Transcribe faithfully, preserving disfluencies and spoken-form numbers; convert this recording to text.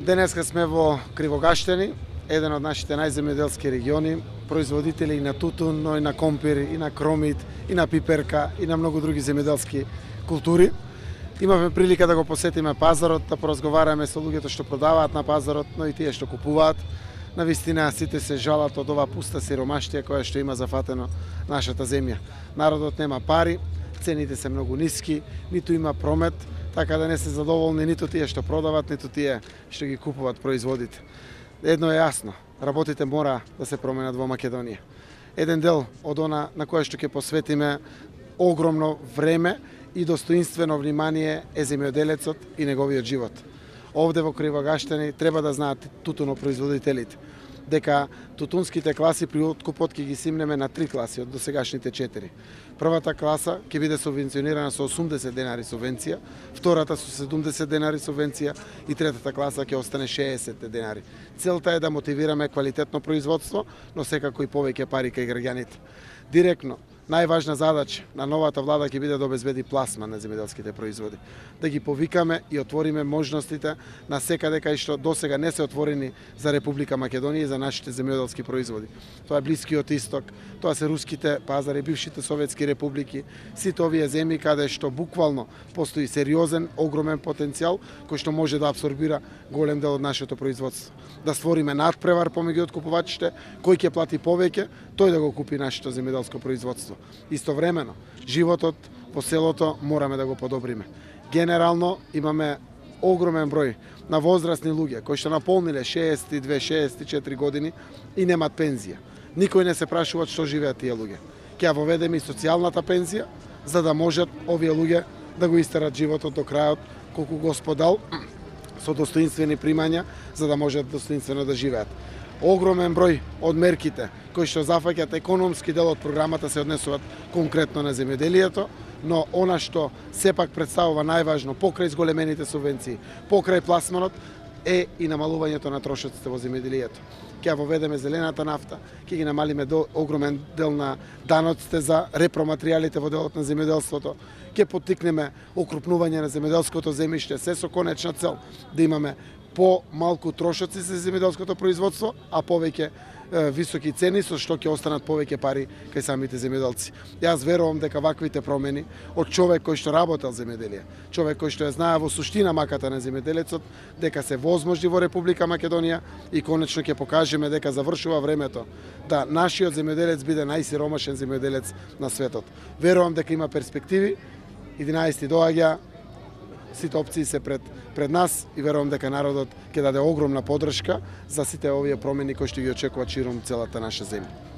Денеска сме во Кривогаштени, еден од нашите најземјоделски региони, производители и на тутун, но и на компир, и на кромит, и на пиперка, и на многу други земјоделски култури. Имавме прилика да го посетиме пазарот, да поразговараме со луѓето што продаваат на пазарот, но и тие што купуваат. Навистина сите се жалат од ова пуста сиромаштија која што има зафатено нашата земја. Народот нема пари, цените се многу ниски, ниту има промет, така да не се задоволни ниту тие што продават, ниту тие што ги купуваат производите. Едно е јасно, работите мора да се променат во Македонија. Еден дел од она на кое што ќе посветиме огромно време и достоинствено внимание е земјоделецот и неговиот живот. Овде во Кривогаштени треба да знаат тутунопроизводителите дека тутунските класи при откупот ќе ги симнеме на три класи од досегашните четири. Првата класа ќе биде субвенционирана со осумдесет денари субвенција, втората со седумдесет денари субвенција и третата класа ќе остане шеесет денари. Целта е да мотивираме квалитетно производство, но секако и повеќе пари кај граѓаните. Директно, најважна задача на новата влада ќе биде да обезбеди пласман на земјоделските производи. Да ги повикаме и отвориме можностите на секаде кај што досега не се отворени за Република Македонија и за нашите земјоделски производи. Тоа е Блискиот Исток, тоа се руските пазари, бившите советски републики, сите овие земји каде што буквално постои сериозен, огромен потенцијал кој што може да апсорбира голем дел од нашето производство. Да створиме надпревар помеѓу откупувачите, кој ќе плати повеќе, тој да го купи нашето земјоделско производство. Истовремено, животот во селото мораме да го подобриме. Генерално имаме огромен број на возрастни луѓе кои што наполниле шеесет и две шеесет и четири години и немат пензија. Никој не се прашува што живеат тие луѓе. Ќе ја воведеме и социјалната пензија за да можат овие луѓе да го истерат животот до крајот колку Господ со достоинствени примања за да можат достоинствено да живеат. Огромен број од мерките кои што зафаќаат економски дел од програмата се однесуваат конкретно на земјоделието, но она што сепак представува најважно покрај зголемените субвенции, покрај пласманот е и намалувањето на трошоците во земјоделието. Ќе ја воведеме зелената нафта, ќе ги намалиме до огромен дел на даноците за репроматеријалите во делот на земјоделството, ќе поттикнеме окрупнување на земјоделското земјиште, се со конечна цел да имаме по-малку трошоци за земјоделското производство, а повеќе е, високи цени со што ќе останат повеќе пари кај самите земјоделци. Јас верувам дека ваквите промени од човек кој што работел земјоделие, човек кој што ја знае во суштина маката на земјоделецот, дека се возможни во Република Македонија и конечно ќе покажеме дека завршува времето да нашиот земјоделец биде најсиромашен земјоделец на светот. Верувам дека има перспективи, единаесети доаѓа, сите опции се пред пред нас и верувам дека народот ќе даде огромна поддршка за сите овие промени кои што ги очекуваат ширум целата наша земја.